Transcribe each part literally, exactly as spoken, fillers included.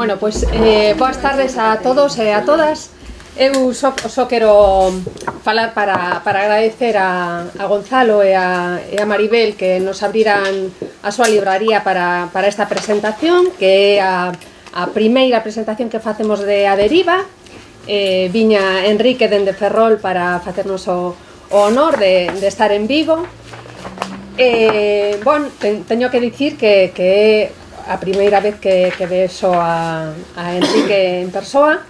Bueno, pois, eh, boas tardes a todos e a todas. Eu só, só quero falar para, para agradecer a, a Gonzalo e a, e a Maribel que nos abriran a súa libraría para, para esta presentación, que é a, a primeira presentación que facemos de A Deriva. Eh, viña Enrique dende Ferrol para facernos o, o honor de, de estar en Vigo. Eh, bon, ten, teño que dicir que, que é a primeira vez que, que vexo a, a Enrique en persoa,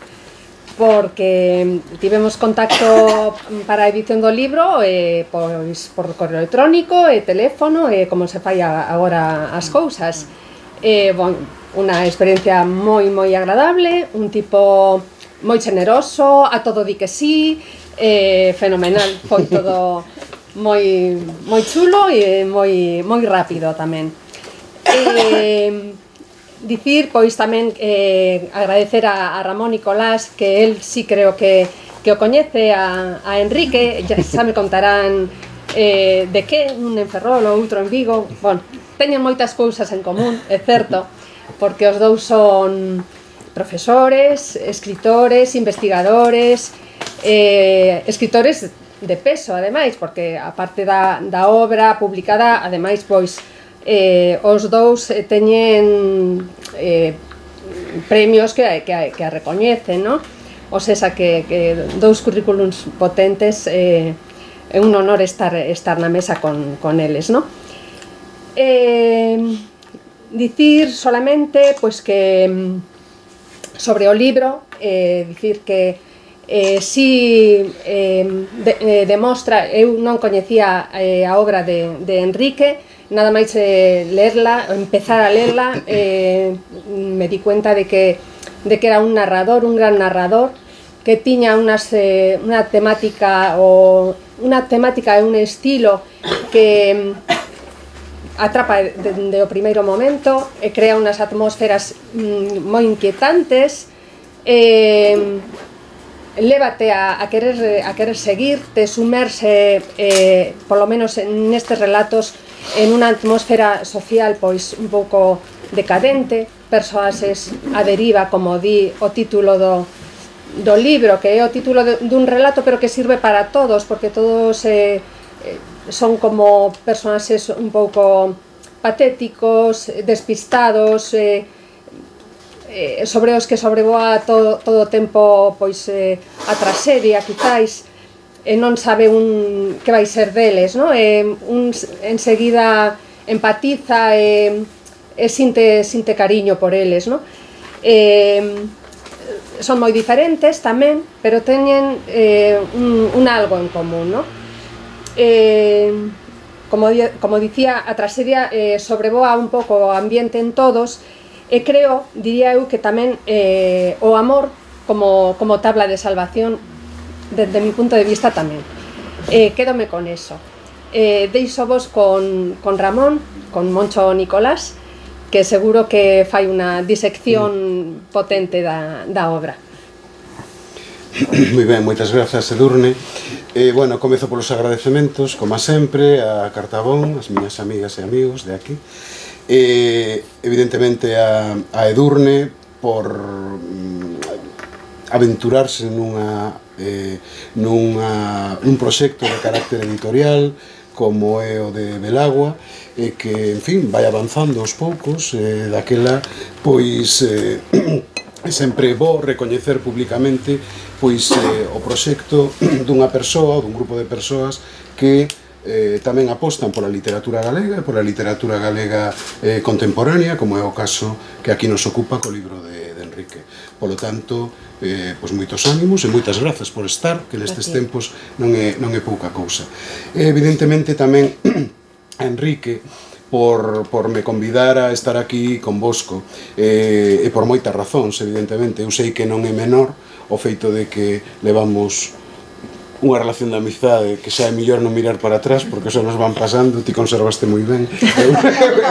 porque tivemos contacto para a edición do libro eh, pois, por correo electrónico e teléfono e como se fai agora as cousas. Eh, bon, unha experiencia moi moi agradable, un tipo moi generoso, a todo di que sí, eh, fenomenal, foi todo moi moi chulo e moi moi rápido tamén. Eh, dicir, pois tamén eh, agradecer a, a Ramón Nicolás, que él sí creo que, que o coñece a, a Enrique, ya xa me contarán eh, de que, un en Ferrol ou outro en Vigo. Bon, teñen moitas cousas en común, é certo, porque os dous son profesores, escritores, investigadores, eh, escritores de peso, ademais, porque a parte da, da obra publicada, ademais, pois, Eh, os dous eh, teñen eh, premios que, que, que a recoñecen, no? O sesa que, que dous currículums potentes, eh, é un honor estar, estar na mesa con, con eles, no? Eh, dicir solamente pois que sobre o libro, eh, dicir que eh, si eh, de, eh, demostra, eu non coñecía eh, a obra de, de Enrique, nada máis eh, lerla, empezar a lerla, eh, me di cuenta de que, de que era un narrador, un gran narrador, que tiña unas, eh, unha temática o unha temática e un estilo que atrapa dende o primeiro momento e crea unhas atmósferas mm, moi inquietantes, eh, lévate a, a, querer, a querer seguir, te sumerse, eh, polo menos nestes relatos, en unha atmósfera social pois un pouco decadente, persoaxes a deriva, como di o título do, do libro, que é o título de, dun relato, pero que sirve para todos, porque todos eh, son como persoaxes un pouco patéticos, despistados, eh, eh, sobre os que sobrevoa todo, todo o tempo pois, eh, a traxedia, quizáis, e non sabe un que vai ser deles, no? E un enseguida empatiza e, e sinte, sinte cariño por eles, no? E, son moi diferentes tamén, pero teñen eh, un, un algo en común, no? E, como, como dicía, a traxedia eh, sobrevoa un pouco o ambiente en todos, e creo, diría eu, que tamén eh, o amor como, como tabla de salvación, desde mi punto de vista tamén. Eh, quédome con eso. Eh, deixo vos con, con Ramón, con Moncho Nicolás, que seguro que fai unha disección potente da, da obra. Moi ben, moitas grazas, Edurne. Eh, bueno, comezo polos agradecementos, como sempre, a Cartabón, as miñas amigas e amigos de aquí. Eh, evidentemente a, a Edurne por mm, aventurarse nunha Eh, nunha, nun proxecto de carácter editorial como é o de Belagua, e que, en fin, vai avanzando aos poucos, eh, daquela, pois, eh, é sempre bo recoñecer publicamente pois eh, o proxecto dunha persoa ou dun grupo de persoas que eh, tamén apostan pola literatura galega e pola literatura galega eh, contemporánea, como é o caso que aquí nos ocupa co libro de, de Enrique. Polo tanto, eh, pois moitos ánimos e moitas grazas por estar, que nestes tempos non é, non é pouca cousa. E, evidentemente, tamén a Enrique por, por me convidar a estar aquí convosco, eh, e por moitas razóns, evidentemente. Eu sei que non é menor o feito de que levamos unha relación de amizade que xa é millor non mirar para atrás, porque xa nos van pasando, ti conservaste moi ben, eu,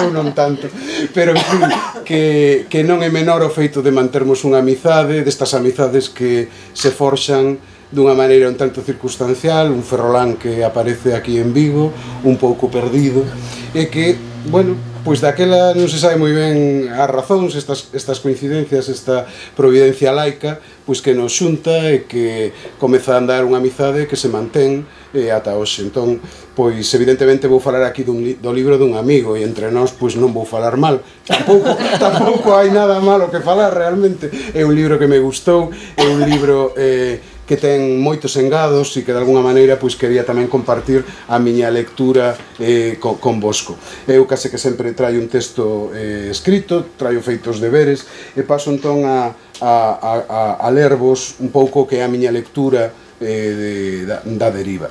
eu non tanto, pero en fin, que, que non é menor o feito de mantermos unha amizade, destas amizades que se forxan dunha maneira un tanto circunstancial, un ferrolán que aparece aquí en Vigo, un pouco perdido, e que, bueno, pois daquela non se sabe moi ben as razóns, estas, estas coincidencias, esta providencia laica, pois que nos xunta e que comeza a andar unha amizade que se mantén eh, ata hoxe. Entón, pois evidentemente vou falar aquí dun, do libro dun amigo e entre nós pois non vou falar mal. Tampouco, tampouco hai nada malo que falar realmente. É un libro que me gustou, é un libro eh, que ten moitos engados e que de alguna maneira pois quería tamén compartir a miña lectura eh, con, con vosco. Eu case que sempre traio un texto eh, escrito, traio feitos deberes e paso entón a, a, a, a lervos un pouco que é a miña lectura eh, de, da, da deriva.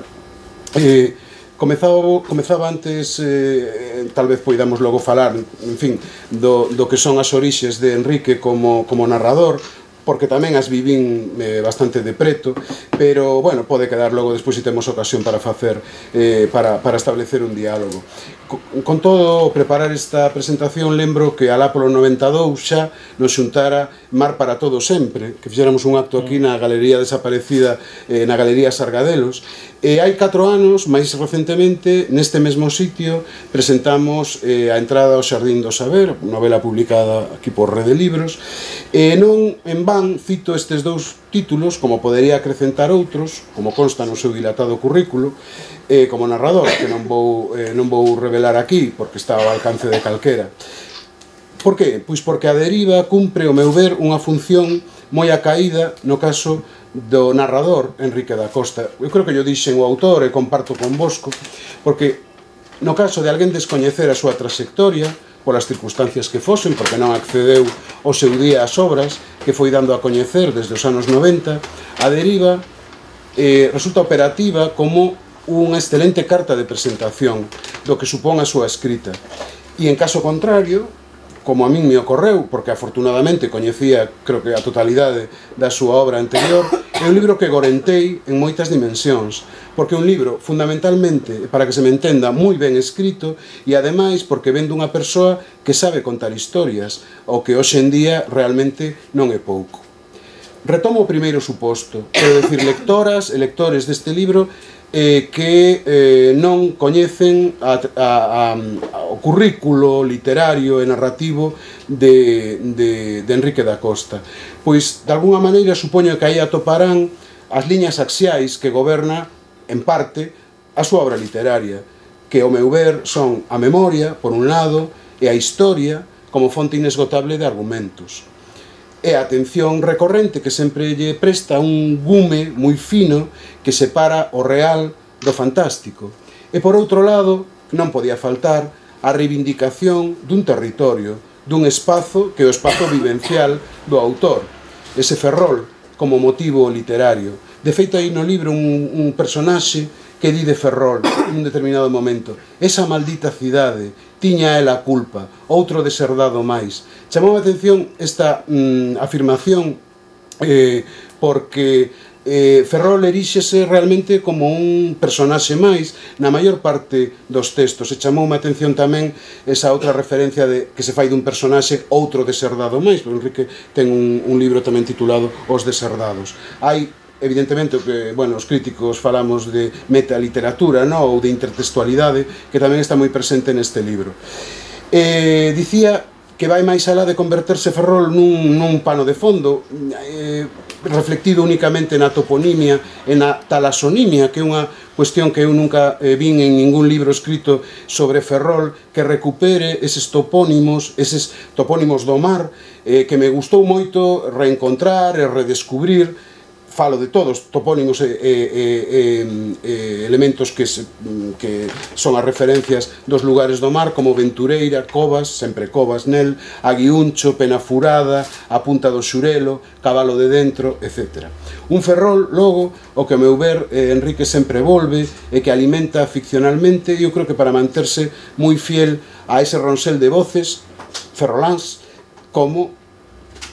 Eh, comezaba, comezaba antes, eh, tal vez poidamos logo falar, en fin, do, do que son as orixes de Enrique como, como narrador, porque tamén as vivín eh, bastante de preto, pero, bueno, pode quedar logo despois se temos ocasión para facer, eh, para, para establecer un diálogo. Con, con todo, preparar esta presentación, lembro que alá polo noventa e dous xa nos xuntara Mar para Todo Sempre, que fixéramos un acto aquí na Galería Desaparecida, eh, na Galería Sargadelos, e hai catro anos, máis recentemente, neste mesmo sitio, presentamos eh, a entrada ao Xardín do Saber, novela publicada aquí por Rede Libros, e non en van cito estes dous títulos, como podería acrecentar outros, como consta no seu dilatado currículo, eh, como narrador, que non vou, eh, non vou revelar aquí, porque está ao alcance de calquera. Por que? Pois porque a deriva cumpre, ao meu ver, unha función moi acaída no caso do narrador Enrique da Costa. Eu creo que yo dixen o autor e comparto con vosco, porque no caso de alguén descoñecer a súa trayectoria, polas circunstancias que fosen, porque non accedeu ao seu día ás obras, que foi dando a coñecer desde os anos noventa, a deriva eh, resulta operativa como unha excelente carta de presentación do que supón a súa escrita. E en caso contrario, como a min me ocorreu, porque afortunadamente coñecía, creo que a totalidade da súa obra anterior, é un libro que gorentei en moitas dimensións, porque é un libro, fundamentalmente, para que se me entenda, moi ben escrito, e ademais porque ven dunha persoa que sabe contar historias, o que hoxe en día realmente non é pouco. Retomo o primeiro suposto, quero decir, lectoras e lectores deste libro eh, que eh, non coñecen a, a, a, o currículo literario e narrativo de, de, de Enrique da Costa. Pois, de alguna maneira, supoño que aí atoparán as liñas axiais que goberna, en parte, a súa obra literaria, que, ao meu ver, son a memoria, por un lado, e a historia, como fonte inesgotable de argumentos. E a atención recorrente que sempre lle presta un gume moi fino que separa o real do fantástico. E por outro lado, non podía faltar a reivindicación dun territorio, dun espazo que é o espazo vivencial do autor, ese Ferrol como motivo literario. De feito, aí no libro un, un personaxe que di de Ferrol nun determinado momento: esa maldita cidade, tiña ela a culpa, outro deserdado máis. Chamou a atención esta mm, afirmación eh, porque eh, Ferrol eríxese realmente como un personaxe máis na maior parte dos textos. E chamou a atención tamén esa outra referencia de que se fai dun personaxe outro deserdado máis, porque Enrique ten un, un libro tamén titulado Os Deserdados. Hai evidentemente, o que, bueno, os críticos falamos de metaliteratura, no? Ou de intertextualidade, que tamén está moi presente neste libro. Eh, dicía que vai máis alá de converterse Ferrol nun, nun pano de fondo, eh, reflectido únicamente na toponimia e na talasonimia, que é unha cuestión que eu nunca eh, vin en ningún libro escrito sobre Ferrol, que recupere eses topónimos, eses topónimos do mar, eh, que me gustou moito reencontrar e redescubrir. Falo de todos, topónimos e, e, e, e elementos que, se, que son as referencias dos lugares do mar, como Ventureira, Covas, sempre Covas nel, Aguiuncho, Penafurada, a Punta do Xurelo, Cabalo de Dentro, etcétera. Un Ferrol, logo, o que a meu ver eh, Enrique sempre volve e que alimenta ficcionalmente, eu creo que para manterse moi fiel a ese ronsel de voces ferroláns, como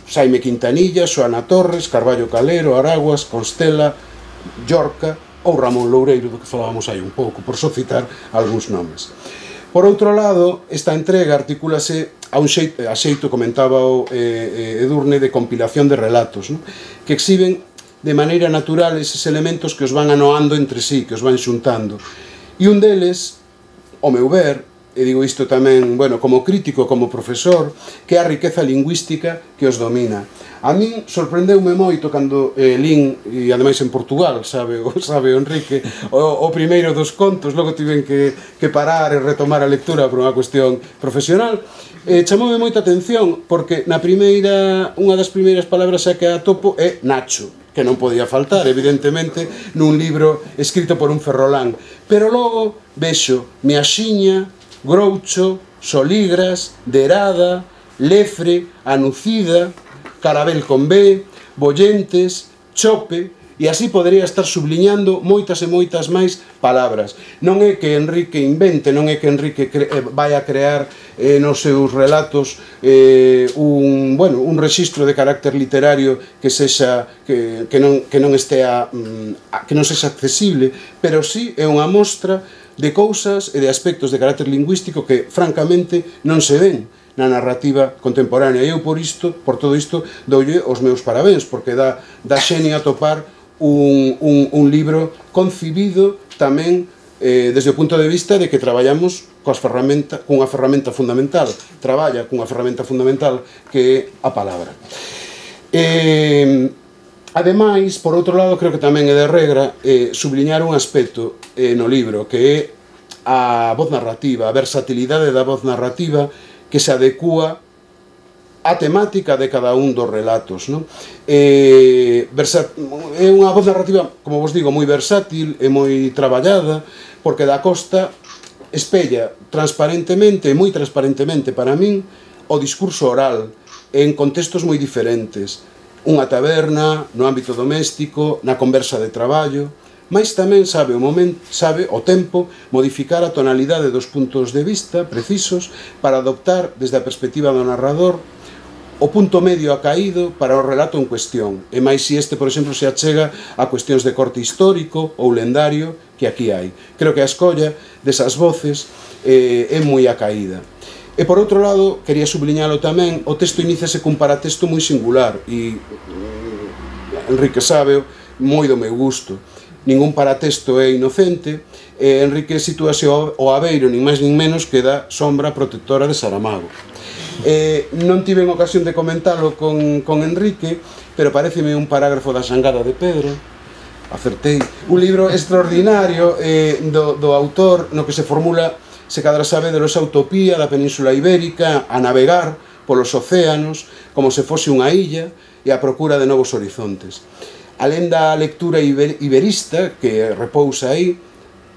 Xaime Quintanilla, Xoana Torres, Carballo Calero, Araguas, Constela, Llorca ou Ramón Loureiro, do que falábamos aí un pouco, por só citar algúns nomes. Por outro lado, esta entrega articúlase a un xeito, a xeito comentaba o eh, Edurne, de compilación de relatos, non? Que exhiben de maneira natural eses elementos que os van anoando entre sí, que os van xuntando. E un deles, ao meu ver, e digo isto tamén, bueno, como crítico, como profesor, que é a riqueza lingüística que os domina. A min sorprendeume moito cando eh, lín, e ademais en Portugal, sabe, sabe o Enrique, o, o primeiro dos contos, logo tiven que, que parar e retomar a lectura por unha cuestión profesional, eh, chamoume moita atención, porque na primeira, unha das primeiras palabras a que atopo é Nacho, que non podía faltar, evidentemente, nun libro escrito por un ferrolán. Pero logo vexo Miaxiña, Groucho, Soligras, Derada, Lefre, Anucida, Carabel con B, Bollentes, Chope, e así podría estar subliñando moitas e moitas máis palabras. Non é que Enrique invente, non é que Enrique vai a crear eh, nos seus relatos eh, un, bueno, un rexistro de carácter literario que sexa que, que, non, que non estea que non sexa accesible, pero sí é unha mostra de cousas e de aspectos de carácter lingüístico que francamente non se ven na narrativa contemporánea. E eu por isto, por todo isto, doulle os meus parabéns, porque dá, dá xenio a topar un, un, un libro concibido tamén eh, desde o punto de vista de que traballamos coas ferramenta, cunha ferramenta fundamental, traballa cunha ferramenta fundamental que é a palabra. Eh, ademais, por outro lado, creo que tamén é de regra eh, subliñar un aspecto eh, no libro, que é a voz narrativa, a versatilidade da voz narrativa que se adecúa a temática de cada un dos relatos, non? Eh, é unha voz narrativa, como vos digo, moi versátil e moi traballada, porque da Costa espella transparentemente, moi transparentemente para min, o discurso oral en contextos moi diferentes. Unha taberna, no ámbito doméstico, na conversa de traballo, mais tamén sabe o momento, sabe o tempo modificar a tonalidade dos puntos de vista precisos para adoptar desde a perspectiva do narrador o punto medio acaído para o relato en cuestión, e máis se este, por exemplo, se achega a cuestións de corte histórico ou lendario que aquí hai. Creo que a escolla desas voces eh, é moi acaída. E por outro lado, quería subliñalo tamén, o texto iníciase cun paratexto moi singular, e Enrique sabe moi do meu gusto. Ningún paratexto é inocente, e Enrique sitúase ao abeiro, nin máis nin menos que da sombra protectora de Saramago. Eh, non tiven ocasión de comentalo con, con Enrique, pero pareceme un parágrafo da Xangada de Pedro, acertei, un libro extraordinario eh, do, do autor, no que se formula, se cadra sabe, de esa utopía da Península Ibérica a navegar polos océanos como se fose unha illa e a procura de novos horizontes. Alén da lectura iber, iberista que repousa aí,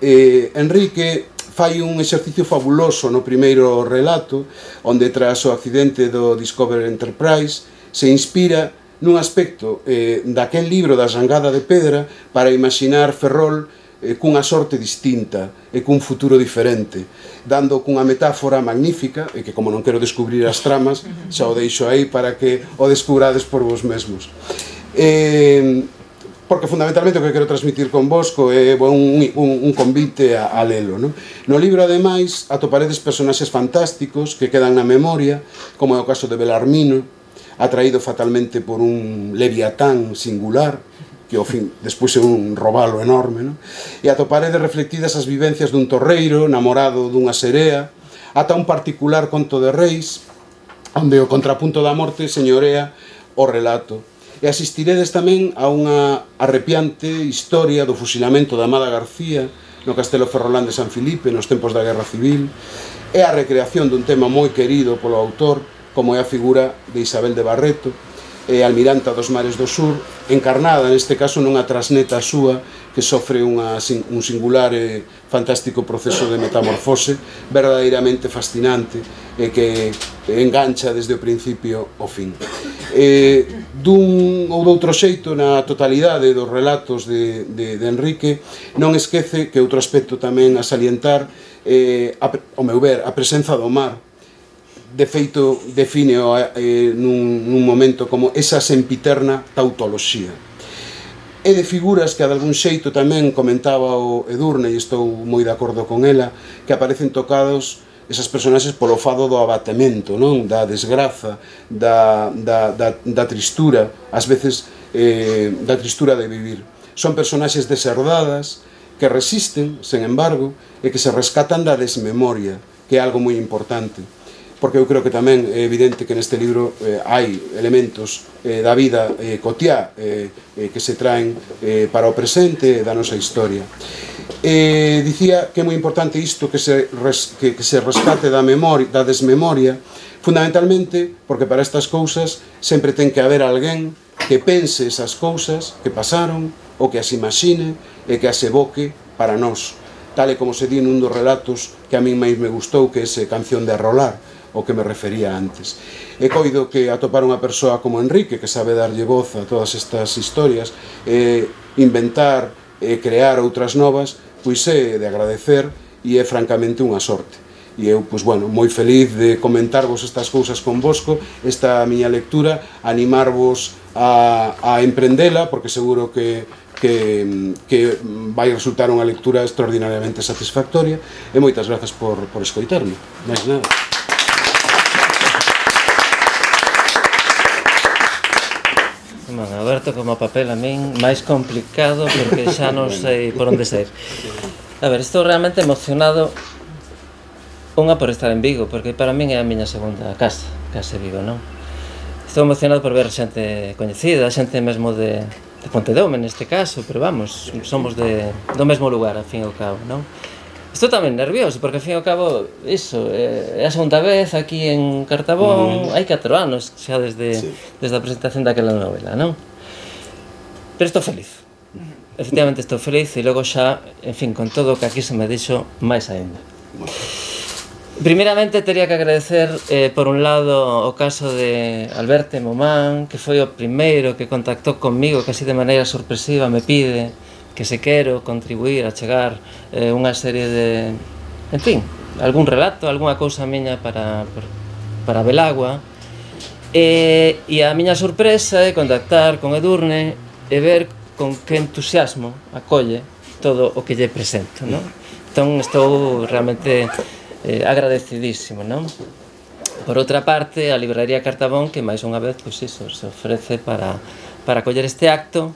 eh, Enrique fai un exercicio fabuloso no primeiro relato, onde tras o accidente do Discovery Enterprise se inspira nun aspecto eh, daquel libro da Xangada de Pedra para imaginar Ferrol eh, cunha sorte distinta e cun futuro diferente, dando cunha metáfora magnífica, e que como non quero descubrir as tramas, xa o deixo aí para que o descubrades por vos mesmos. Eh, porque fundamentalmente o que quero transmitir con vos é un, un, un convite a, a lelo, non? No libro, ademais, atoparedes personaxes fantásticos que quedan na memoria, como é o caso de Belarmino, atraído fatalmente por un leviatán singular, que ao fin despois é un robalo enorme, non? E atoparedes reflectidas as vivencias dun torreiro namorado dunha serea, ata un particular conto de reis, onde o contrapunto da morte señorea o relato. E asistiredes tamén a unha arrepiante historia do fusilamento da Amada García no Castelo Ferrolán de San Filipe nos tempos da Guerra Civil, e a recreación dun tema moi querido polo autor, como é a figura de Isabel de Barreto, e almiranta dos mares do sur, encarnada neste caso nunha trasneta súa que sofre unha, un singular e fantástico proceso de metamorfose verdadeiramente fascinante e que engancha desde o principio ao fin. Eh, dun ou doutro xeito, na totalidade dos relatos de, de, de Enrique, non esquece que outro aspecto tamén a salientar, eh, a, ao meu ver, a presenza do mar. De feito, define eh, nun, nun momento como esa sempiterna tautoloxía. E de figuras que a de algún xeito tamén comentaba o Edurne, e estou moi de acordo con ela, que aparecen tocados esas personaxes polo fado do abatemento, non? Da desgraza, da, da, da, da tristura, ás veces eh, da tristura de vivir. Son personaxes deserdadas que resisten, sen embargo, e que se rescatan da desmemoria, que é algo moi importante, porque eu creo que tamén é evidente que neste libro eh, hai elementos eh, da vida eh, cotiá eh, eh, que se traen eh, para o presente da nosa historia. Eh, dicía que é moi importante isto que se, res, que, que se rescate da, memoria, da desmemoria, fundamentalmente porque para estas cousas sempre ten que haber alguén que pense esas cousas que pasaron, ou que as imagine e que as evoque para nós, tal e como se di nun dos relatos que a min máis me gustou, que é ese Canción de Arrolar, o que me refería antes. E coido que atopar unha persoa como Enrique, que sabe darlle voz a todas estas historias, e inventar e crear outras novas, pois é de agradecer e é francamente unha sorte. E eu, pois, bueno, moi feliz de comentarvos estas cousas convosco, esta miña lectura, animarvos a, a emprendela, porque seguro que Que, que vai resultar unha lectura extraordinariamente satisfactoria, e moitas grazas por, por escoitarme. Mais nada. Bueno, Alberto, como papel a min máis complicado, porque xa non sei por onde sair. A ver, estou realmente emocionado, unha por estar en Vigo, porque para min é a miña segunda casa, casa Vigo, non? Estou emocionado por ver xente coñecida, xente mesmo de de Pontedeume neste caso, pero vamos, somos de, do mesmo lugar, ao fin e ao cabo, non? Estou tamén nervioso, porque ao fin e ao cabo, iso, é a segunda vez aquí en Cartabón, hai catro anos xa desde, sí. desde a presentación daquela novela, non? Pero estou feliz, efectivamente estou feliz, e logo xa, en fin, con todo o que aquí se me dixo, máis ainda. Primeiramente, teria que agradecer, eh, por un lado, o caso de Alberto Momán, que foi o primeiro que contactou conmigo, que así de maneira sorpresiva me pide que se quero contribuir a chegar eh, unha serie de... En fin, algún relato, algunha cousa miña para, para Belagua. E, e a miña sorpresa é contactar con Edurne e ver con que entusiasmo acolle todo o que lle presento, non? Entón, estou realmente... Eh, agradecidísimo, non? Por outra parte, a Libraría Cartabón, que máis unha vez, pois iso, se ofrece para, para coller este acto.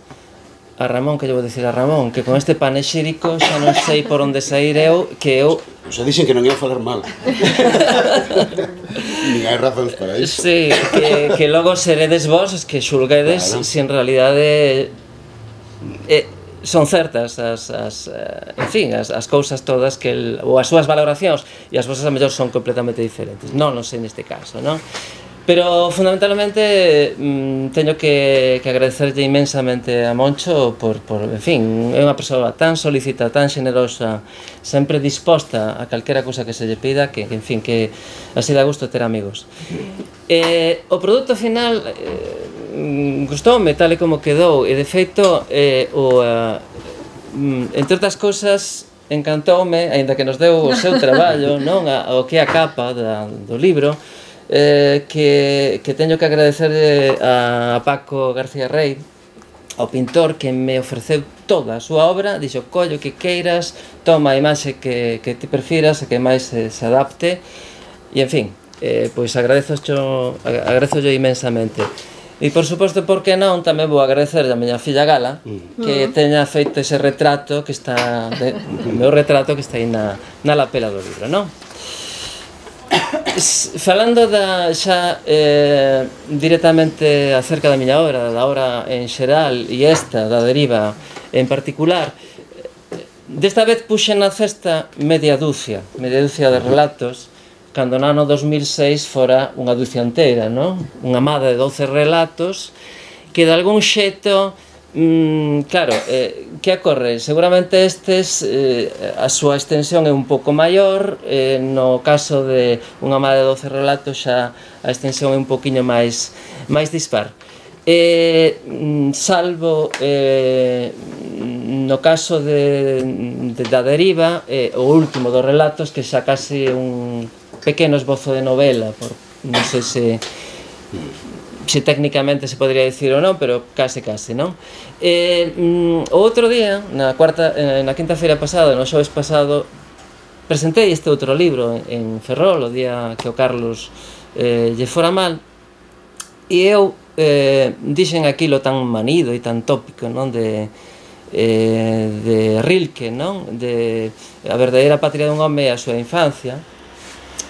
A Ramón, que lle vou dicir a Ramón, que con este panexírico xa non sei por onde sair eu, que eu... Xa dixen que non ia falar mal. Nin hai razóns para iso. Sí, que, que logo seredes vos os que xulguedes, claro, se en realidade... Eh, son certas as, as, en fin, as, as cousas todas que el, ou as súas valoracións, e as vosas a mellor son completamente diferentes. Non, non sei neste caso, non? Pero fundamentalmente mm, teño que, que agradecerlle inmensamente a Moncho por, por, en fin, é unha persoa tan solicita, tan generosa, sempre disposta a calquera cousa que se lle pida, que, que en fin, que así dá gusto ter amigos. Eh, o produto final eh, gustoume tal e como quedou, e de feito eh, o, uh, entre outras cousas encantoume, aínda que nos deu o seu traballo, non, a, o que é a capa da, do libro, eh, que, que teño que agradecerle a Paco García Rey, ao pintor, que me ofreceu toda a súa obra, dixo, collo que queiras, toma a imaxe que, que ti prefiras e que máis se, se adapte, e en fin, eh, pois agradezo agradezo imensamente. E por suposto, por que non, tamén vou agradecer a miña filla Gala, que teña feito ese retrato que está, de, o meu retrato que está aí na, na lapela do libro, non? Falando da, xa eh, directamente acerca da miña obra, da obra en xeral e esta, da Deriva en particular, desta vez puxen na cesta media dúcia, media dúcia de relatos, cando no ano dos mil seis fora unha dúcia inteira, non? Unha mada de doce relatos que de algún xeito, mm, claro, eh, que ocorre? Seguramente estes, eh, a súa extensión é un pouco maior, eh, no caso de unha mada de doce relatos xa a extensión é un poquinho máis, máis dispar. Eh, salvo eh, no caso de, de da Deriva, eh, o último dos relatos, que xa case un pequeno esbozo de novela, por, non sei se se técnicamente se podría dicir ou non, pero case case, non? Eh, mm, o outro día, na cuarta, eh, na quinta-feira pasada, no xoves pasado, presentei este outro libro en Ferrol, o día que o Carlos eh, lle fora mal, e eu eh, dixen aquilo tan manido e tan tópico, non? De, eh, de Rilke, non? De a verdadeira patria dun home e a súa infancia.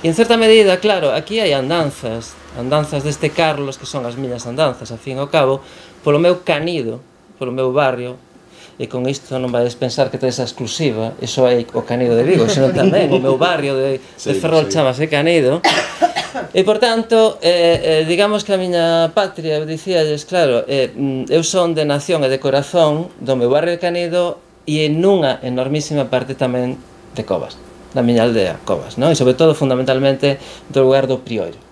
E en certa medida, claro, aquí hai andanzas, andanzas deste Carlos, que son as miñas andanzas, a fin e ao cabo, polo meu canido, polo meu barrio, e con isto non vais pensar que tedes a exclusiva, iso é o Canido de Vigo, senón tamén o meu barrio de, de Ferrol chamase Canido, e por tanto, eh, eh, digamos que a miña patria, dicíalles, claro, eh, eu son de nación e de corazón do meu barrio de Canido e en unha enormísima parte tamén de Covas, da miña aldea, Covas, non? E sobre todo, fundamentalmente, do lugar do Prioiro.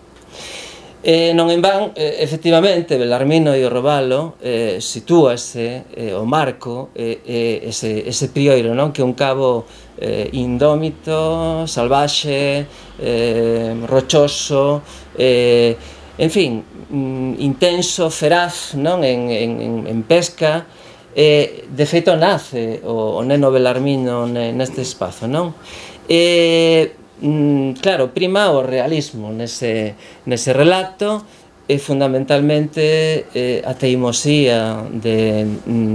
Eh, non en van, eh, efectivamente, Belarmino e o Robalo eh, sitúase eh, o marco eh, eh, ese, ese Prioiro, non? Que é un cabo eh, indómito, salvaxe, eh, rochoso, eh, en fin, mm, intenso, feraz, non? En, en, en pesca, eh, de feito nace o, o neno Belarmino neste espazo, non? E Mm, claro, prima o realismo nese, nese relato e fundamentalmente eh, a teimosía de,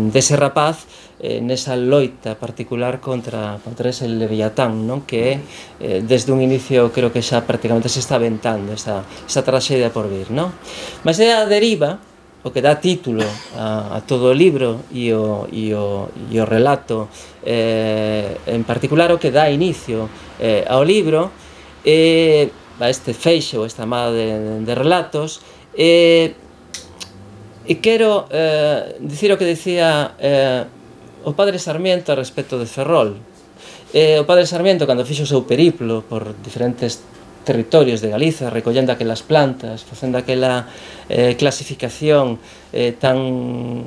dese rapaz eh, nesa loita particular contra, contra ese leviatán, non? Que eh, desde un inicio creo que xa prácticamente se está aventando esa, esa traxedia por vir, non? Mas é a deriva o que dá título a, a todo o libro e o, e o, e o relato, eh, en particular o que dá inicio eh, ao libro, eh, a este feixe ou esta amada de, de relatos, eh, e quero eh, dicir o que dicía eh, o padre Sarmiento a respecto de Ferrol. Eh, o padre Sarmiento, cando fixo o seu periplo por diferentes territorios de Galiza, recollendo aquelas plantas, facendo aquela eh, clasificación eh, tan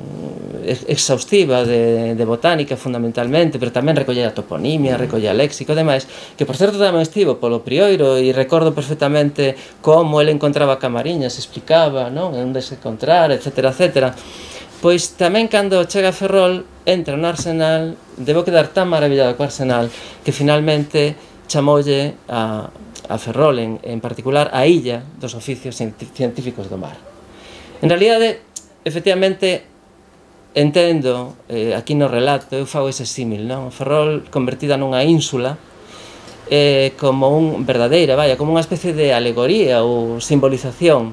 exhaustiva de, de botánica fundamentalmente, pero tamén recoller a toponimia, recoller a léxico e demais, que por certo tamén estivo polo Prioiro e recordo perfectamente como ele encontraba camariñas, explicaba, non? Onde se encontrar, etcétera, etcétera. Pois tamén cando chega a Ferrol, entra no Arsenal, debo quedar tan maravillado co Arsenal que finalmente chamoulle a a Ferrol, en, en particular, a illa dos oficios científicos do mar. En realidade, efectivamente, entendo, eh, aquí no relato, eu fago ese símil, non? Ferrol convertida nunha ínsula, eh, como un verdadeira, vaya, como unha especie de alegoría ou simbolización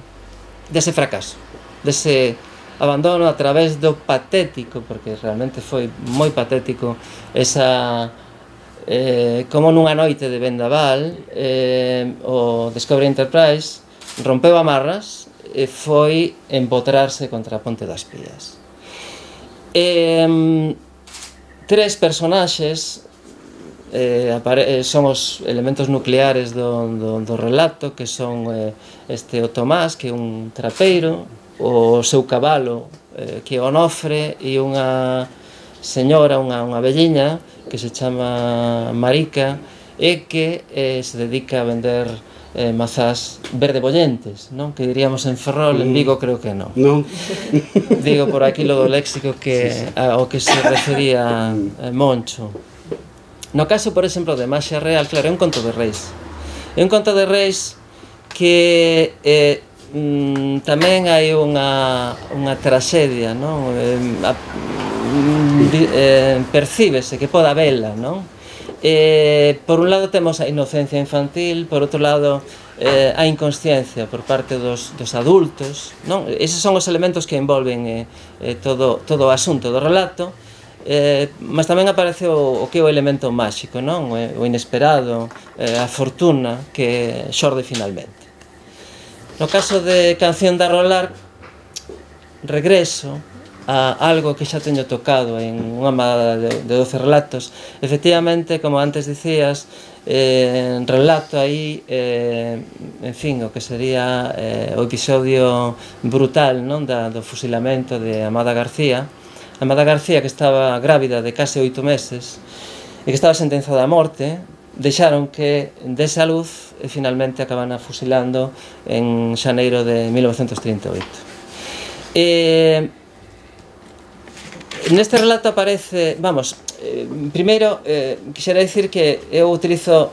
dese fracaso, dese abandono a través do patético, porque realmente foi moi patético, esa... Eh, como nunha noite de vendaval eh, o Discovery Enterprise rompeu amarras e foi empotrarse contra a Ponte das Pías. Eh, tres personaxes eh, son os elementos nucleares do, do, do relato, que son eh, este o Tomás, que é un trapeiro, o seu cabalo, eh, que é Onofre, e unha señora, unha, unha velliña que se chama Marica e que eh, se dedica a vender eh, mazás verdebollentes, non? Que diríamos en Ferrol, en Vigo creo que non. Non. Digo por aquí lo do léxico que, sí, sí. ao que se refería eh, Moncho. No caso, por exemplo, de Maxia Real, claro, é un conto de reis. É un conto de reis que eh, mm, tamén hai unha, unha traxedia, non? Eh, a, Eh, percíbese que poda vela, non? Eh, por un lado temos a inocencia infantil, por outro lado eh, a inconsciencia por parte dos, dos adultos, non? Eses son os elementos que envolven eh, eh, todo, todo o asunto do relato, eh, mas tamén aparece o, o que é o elemento máxico, non? O inesperado, eh, a fortuna que xorde finalmente. No caso de Canción de Arrolar, regreso a algo que xa teño tocado en unha amada de doce relatos. Efectivamente, como antes dicías, eh, relato aí, eh, en fin, o que sería eh, o episodio brutal, non, da, do fusilamento de Amada García. Amada García, que estaba grávida de case oito meses e que estaba sentenzada a morte, deixaron que dese a luz e finalmente acaban fusilando en xaneiro de mil novecentos trinta e oito. E neste relato aparece, vamos, eh, primeiro, eh, quixera dicir que eu utilizo,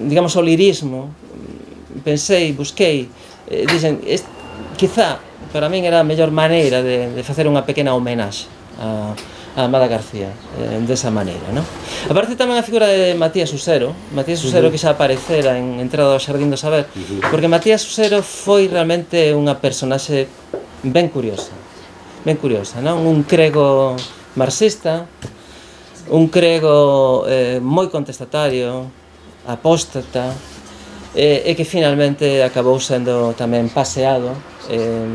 digamos, o lirismo, pensei, busquei, eh, dixen, est, quizá, para min era a mellor maneira de, de facer unha pequena homenaxe a, a Amada García, eh, desa maneira, non? Aparece tamén a figura de Matías Usero, Matías Usero que xa aparecera en Entrada ao Xardín do Saber, porque Matías Usero foi realmente unha personaxe ben curiosa, ben curiosa, non? Un crego marxista, un crego eh, moi contestatario, apóstata, eh, e que finalmente acabou sendo tamén paseado eh,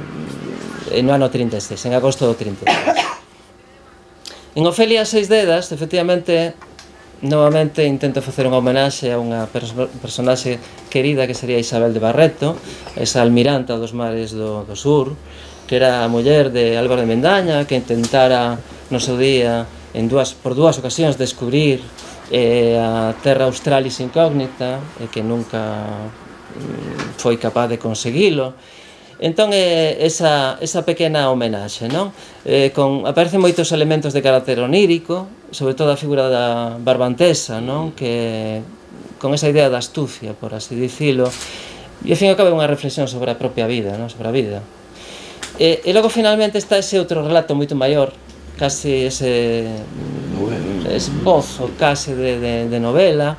no ano trinta e seis, en agosto do trinta e seis. En Ofelia Seis Dedas, efectivamente, novamente intento facer unha homenaxe a unha perso personaxe querida que sería Isabel de Barreto, esa almiranta dos mares do, do sur, que era a muller de Álvaro de Mendaña, que intentara no seu día en dúas, por dúas ocasións descubrir eh, a terra australis incógnita e que nunca mm, foi capaz de conseguilo. Entón, eh, esa, esa pequena homenaxe, non? Eh, con, aparecen moitos elementos de carácter onírico, sobre todo a figura da barbantesa, non? Que, con esa idea da astucia, por así dicilo, e ao fin e ao cabo unha reflexión sobre a propia vida, non? Sobre a vida. E, e logo, finalmente, está ese outro relato moito maior, casi ese esbozo case de, de, de novela,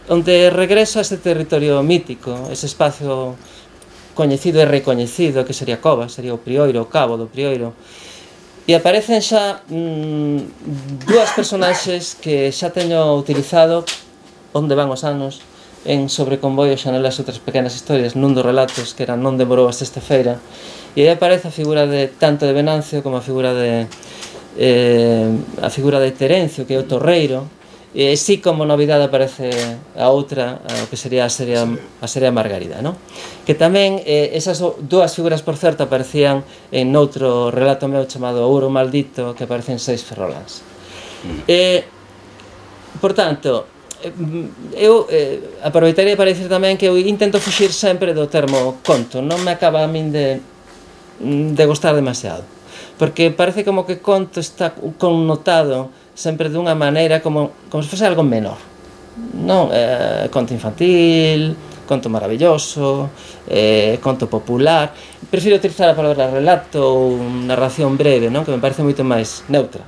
onde regresa a ese territorio mítico, ese espacio coñecido e recoñecido que sería Cova, sería o Prioiro, o cabo do Prioiro, e aparecen xa mmm, dúas personaxes que xa teño utilizado onde van os anos en Sobre Convoio, Xanelas e outras pequenas historias, nun dos relatos que era Non demorou a sexta-feira, e aí aparece a figura de tanto de Venancio como a figura de eh, a figura de Terencio, que é o torreiro, e si como novidade aparece a outra, o que sería a serie, a serie Margarida, non? Que tamén, eh, esas dúas figuras, por certo, aparecían en outro relato meu chamado Ouro Maldito, que aparece en Seis Ferroláns. Mm. Eh, por tanto, eu eh, aproveitaría para dicir tamén que eu intento fuxir sempre do termo conto, non me acaba a min de, de gustar demasiado, porque parece como que conto está connotado sempre dunha maneira como, como se fose algo menor, non? Eh, conto infantil, conto maravilloso, eh, conto popular. Prefiro utilizar a palabra relato ou narración breve, non? Que me parece moito máis neutra.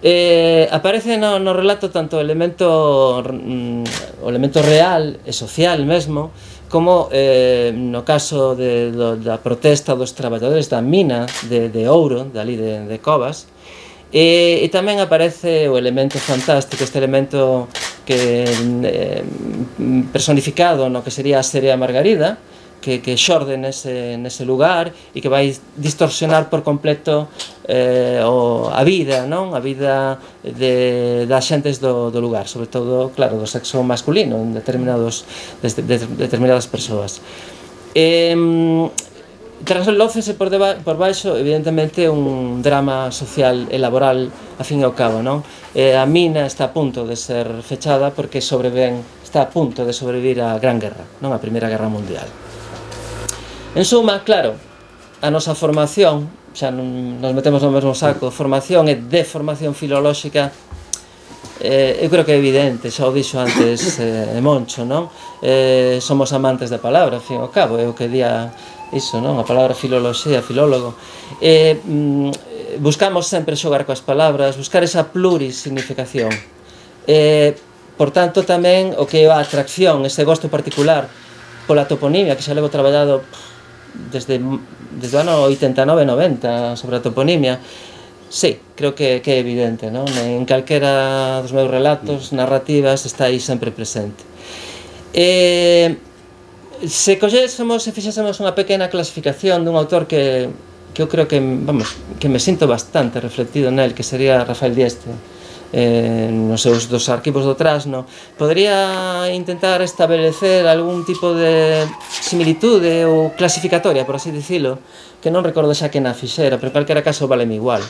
Eh, aparece no, no relato tanto o elemento, mm, o elemento real e social mesmo, como eh, no caso de, do, da protesta dos traballadores da mina de, de ouro, dali de, de Covas, e, e tamén aparece o elemento fantástico, este elemento que eh, personificado no que sería a serie Margarida, que, que xorde nese, nese lugar e que vai distorsionar por completo eh, o, a vida, non? A vida de, das xentes do, do lugar, sobre todo, claro, do sexo masculino en determinados, de, de, determinadas persoas. Eh, Traslócese por, deba, por baixo, evidentemente, un drama social e laboral, a fin e ao cabo, non? Eh, a mina está a punto de ser fechada porque sobreven, está a punto de sobrevivir a Gran Guerra, non? A Primeira Guerra Mundial. En suma, claro, a nosa formación, xa non nos metemos no mesmo saco, formación e deformación filolóxica, eh, eu creo que é evidente, xa o dixo antes eh, Moncho, non? Eh, somos amantes da palabra, ao fin e ao cabo, eu que día iso, non? A palabra filoloxía, filólogo. Eh, mm, buscamos sempre xogar coas palabras, buscar esa plurisignificación. Eh, por tanto, tamén o que é a atracción, ese gosto particular pola toponimia, que xa levo traballado desde, desde o ano oitenta e nove noventa sobre a toponimia, sí, creo que, que é evidente, non? En calquera dos meus relatos, narrativas, está aí sempre presente. Eh, se collésemos e fixésemos unha pequena clasificación dun autor que, que eu creo que, vamos, que me sinto bastante reflectido nel, que sería Rafael Dieste, eh, nos seus dos arquivos do Trasno, podría intentar establecer algún tipo de similitude ou clasificatoria, por así dicilo, que non recordo xa que na fixera, pero en calquera caso valeme igual,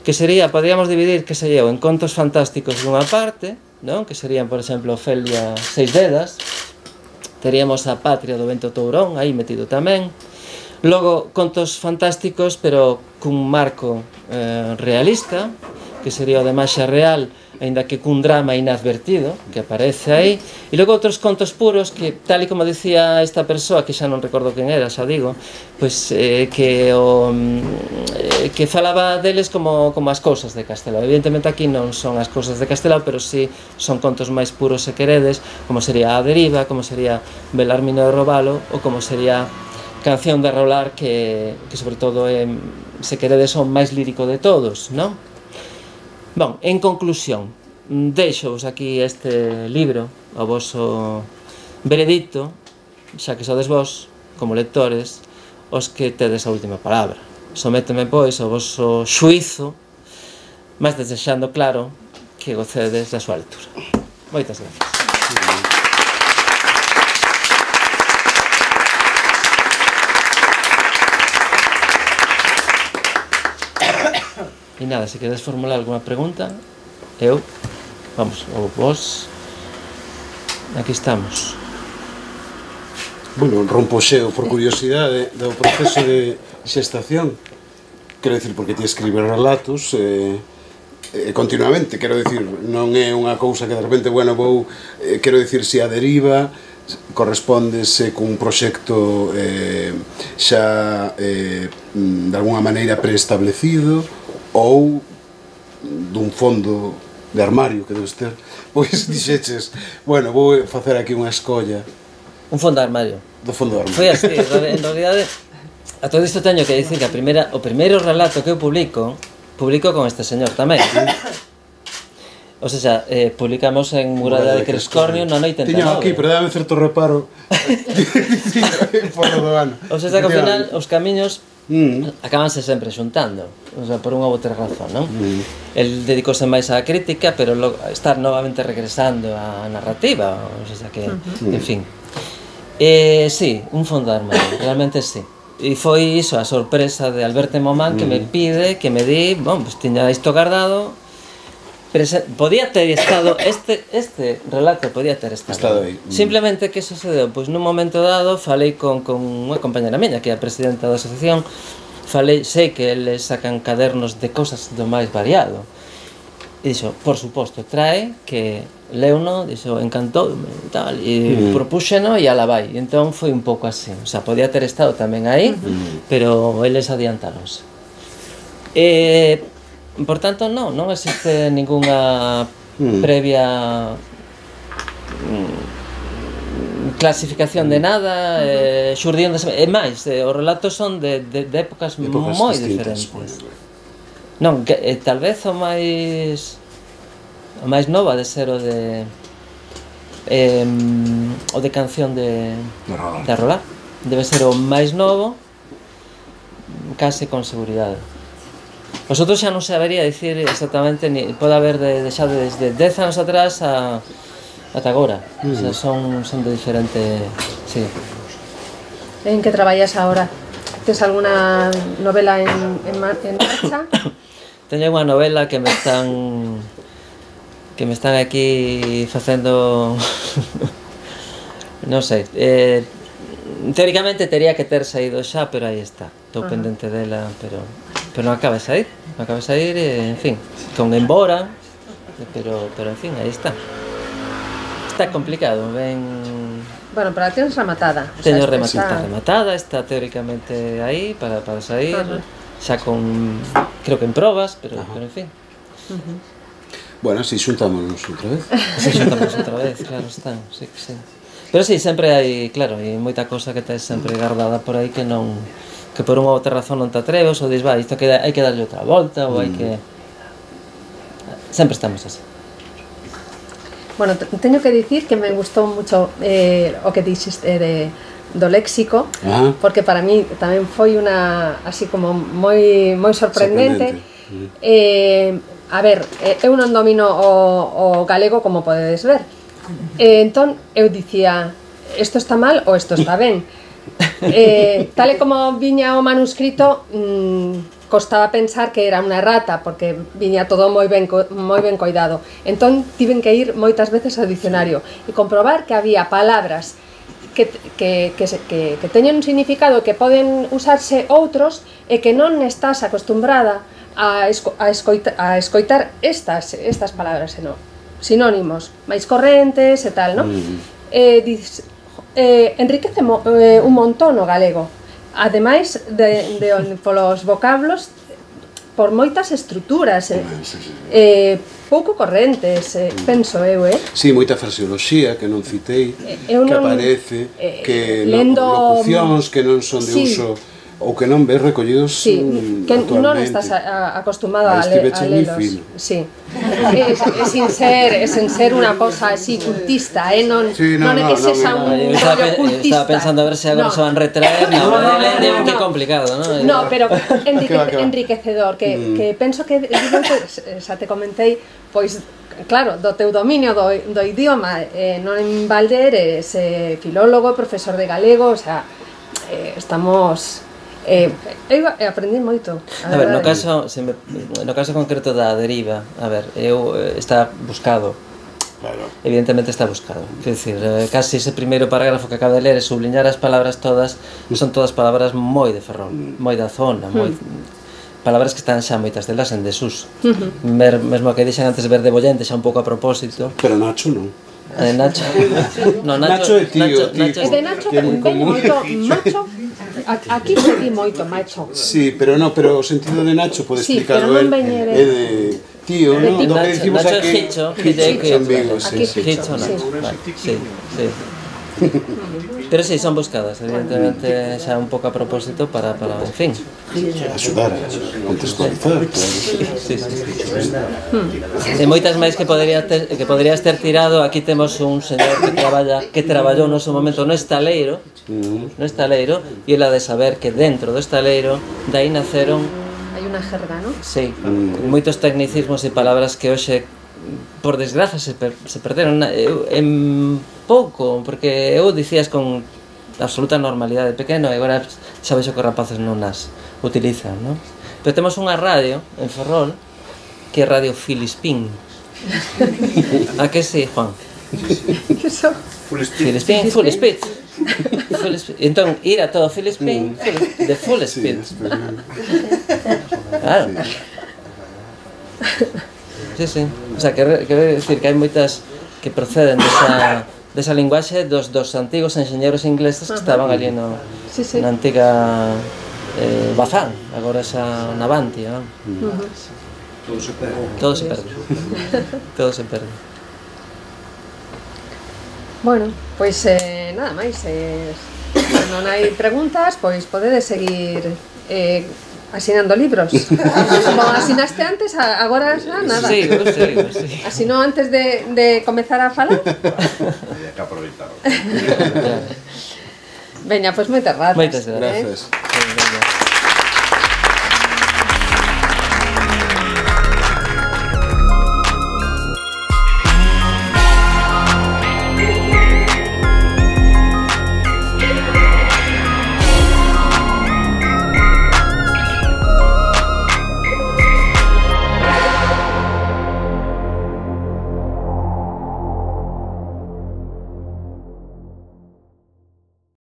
que sería, podríamos dividir, que se eu, en contos fantásticos dunha parte, non? Que serían, por exemplo, Ofelia Seis Dedas, teríamos a Patria do Vento Tourón, aí metido tamén, logo contos fantásticos, pero cun marco eh, realista, que sería o de Maxia Real, aínda que cun drama inadvertido, que aparece aí, e logo outros contos puros que, tal e como dicía esta persoa, que xa non recordo quen era, xa digo, pois eh, que o eh, que falaba deles como, como as cousas de Castelao. Evidentemente aquí non son as cousas de Castelao, pero sí son contos máis puros se queredes, como sería A Deriva, como sería Belarmino de Robalo, ou como sería Canción de Rolar, que, que sobre todo é, se queredes, son máis lírico de todos, non? Bon, en conclusión, deixo-vos aquí este libro, o voso veredicto, xa que sodes vos, como lectores, os que tedes a última palabra. Sométeme, pois, ao voso xuizo, mas desexando, claro, que gocedes da súa lectura. Moitas gracias. E nada, se queres formular alguna pregunta, eu, vamos, ou vos, aquí estamos. Bueno, rompo xeo por curiosidade do proceso de xestación. Quero dicir, porque ti escribes relatos eh, eh, continuamente, quero dicir, non é unha cousa que de repente, bueno, vou, eh, quero dicir, se a deriva correspondese cun proxecto eh, xa eh, de alguna maneira preestablecido, ou dun fondo de armario que debes ter, pois dixeches, bueno, vou facer aquí unha escolla. Un fondo de armario. Do fondo de armario. Foi así, en realidade, a todo isto teño que dicir que a primeira, o primeiro relato que eu publico, publico con este señor tamén. O sea, eh, publicamos en Muralla de Crescornio na noite en Tiño aquí, pero dame certo reparo fora do ano. O sea, que ao final os camiños mm. acabanse sempre xuntando, o sea, por unha ou outra razón, non? Mm. El dedicose máis á crítica, pero lo, estar novamente regresando á narrativa, o sea, que, mm. en fin. Eh, sí, un fondo de armario, realmente sí. E foi iso, a sorpresa de Alberto Momán, que mm. me pide, que me di, bon, pues tiña isto guardado. Podía ter estado, este, este relato podía ter estado, estado aí. Simplemente que sucedeu, pois nun momento dado falei con, con unha compañera miña, que é a presidenta da asociación, falei, sei que eles sacan cadernos de cosas do máis variado, e dixo, por suposto, trae, que leuno, dixo, encantou, e tal, e mm. propúxeno e ala vai, e entón foi un pouco así, o sea, podía ter estado tamén aí, mm. pero eles adiantaronse. E... Por tanto, non, non existe ninguna mm. previa mm, clasificación de nada, uh-huh. eh, xurdión de... E máis, eh, os relatos son de, de, de épocas, de épocas moi diferentes. Pues. Non, que, eh, tal vez o máis... O máis nova de ser o de... Eh, o de canción de... De Rolar. Debe ser o máis novo, case con seguridade. Os outros xa non sabería dicir exactamente, ni pode haber de, de xa desde dez anos atrás a, ata agora. Mm. O sea, son, son de diferente... Sí. En que traballas agora? Tes alguna novela en, en, en marcha? Teño unha novela que me están... que me están aquí facendo... non sei... Eh, teóricamente tería que ter saído xa, pero aí está. Estou uh-huh. pendente dela, pero... pero non acaba de sair, non acaba de sair, e, en fin, con embora, pero, pero en fin, aí está. Está complicado, ben... Bueno, pero a tens rematada. Teño o sea, rematada, está rematada, está teóricamente aí para, para sair, uh-huh. xa con, creo que en probas, pero, uh-huh. pero en fin. Uh-huh. Bueno, si xuntámonos outra vez. Si xuntámonos outra vez, claro, está, sí que sí. Pero sí, sempre hai, claro, hai moita cosa que tes sempre guardada por aí que non... que por unha outra razón non te atreves, ou dis, va, isto que hai que darlle outra volta, ou hai que... Sempre estamos así. Bueno, teño que dicir que me gustou mucho eh, o que dixiste de, do léxico, ah. porque para mí tamén foi unha, así como moi, moi sorprendente. sorprendente. Eh, a ver, eu non domino o, o galego, como podedes ver. Eh, entón, eu dicía, isto está mal ou isto está ben. Eh, tal e como viña o manuscrito, mmm, costaba pensar que era unha errata, porque viña todo moi ben, moi ben coidado. Entón, tiven que ir moitas veces ao dicionario e comprobar que había palabras que, que, que, que, que teñen un significado, que poden usarse outros, e que non estás acostumbrada a, esco, a, escoita, a escoitar estas, estas palabras, senón sinónimos máis correntes e tal, non? Mm. Eh, dices, eh, enriquece mo, eh, un montón o galego, ademais de, de, de polos vocablos, por moitas estruturas, eh, sí, sí. eh, pouco correntes, eh, penso eu, eh? Si, sí, moita fraseoloxía que non citei, eh, que non, aparece, eh, que lendo, locucións que non son de sí. uso, ou que non ves recollidos sí, que non estás a, a acostumado a, le, a lelos. Sí. É, é sin ser, é sin ser unha cosa así cultista, eh? non, sí, no, non é que no, sexa no, un no, rollo cultista. Estaba pensando a ver se agora no. se van retraer, no, no, no, no, no, no. Que complicado, ¿no? No, pero enrique, enriquecedor, que, mm. que penso que, xa te comentei, pois, claro, do teu dominio do, do idioma, eh, non en balde eres eh, filólogo, profesor de galego, o sea, eh, estamos... Eh, eu aprendi moito. A, a ver, no caso, se me, no caso concreto da deriva, a ver, eu eh, está buscado. Claro. Evidentemente está buscado. Quer decir, eh, casi ese primeiro parágrafo que acabo de ler, subliñar as palabras todas, son todas palabras moi de Ferrol, moi da zona, moi palabras que están xa moitas delas en desuso. Uh -huh. Mer, mesmo que dixen antes verde bollente xa un pouco a propósito. Pero Nacho non. Eh, Nacho. No, Nacho, Nacho é tío, Nacho, tío. Nacho, de Nacho ven moito macho. Aquí se di moito macho. Sí, pero no, pero o sentido de Nacho pode sí, explicarlo el. É de, de tío, de ¿no? Nacho, Lo que decimos Nacho aquí. Hicho, Hicho en Vigo, sí, sí. Hicho, sí. Vale, sí, sí. Pero sí, son buscadas, evidentemente, xa un pouco a propósito para, para en fin, axudar a contextualizar. Sí, sí, sí. E moitas máis que poderías ter, que poderías ter tirado. Aquí temos un señor que traballa, que traballou no seu momento no estaleiro, no estaleiro, e ela de saber que dentro do estaleiro de aí naceron, hai unha jerga, non? Sí, mm. moitos tecnicismos e palabras que hoxe, por desgraza, se, per, se perderon eu, en pouco, porque eu dicías con absoluta normalidade pequeno e agora xa vexo que os rapaces non as utilizan, non? Pero temos unha radio en Ferrol que é Radio Filispín. A que sí, Juan? Que son? Filispín, full speed. Entón, ir a todo Filispín de full speed. Claro. Sí, sí. O sea, que quero decir que hai moitas que proceden desa, desa linguaxe dos, dos antigos enxeñeros ingleses que estaban ali no, sí, sí. na antiga eh, Bazán, agora xa Navantia, non? Uh-huh. Todo se perde. Todo se perde. Todo se perde. Bueno, pois eh, nada máis, eh, non hai preguntas, pois podedes seguir eh, asinando libros. Como asinaste antes, agora xa nada. Sí, sí, sí. Asinou antes de, de comezar a falar. Había que aproveitar. Veña, pois moitas grazas. Moitas grazas. Gracias. Eh?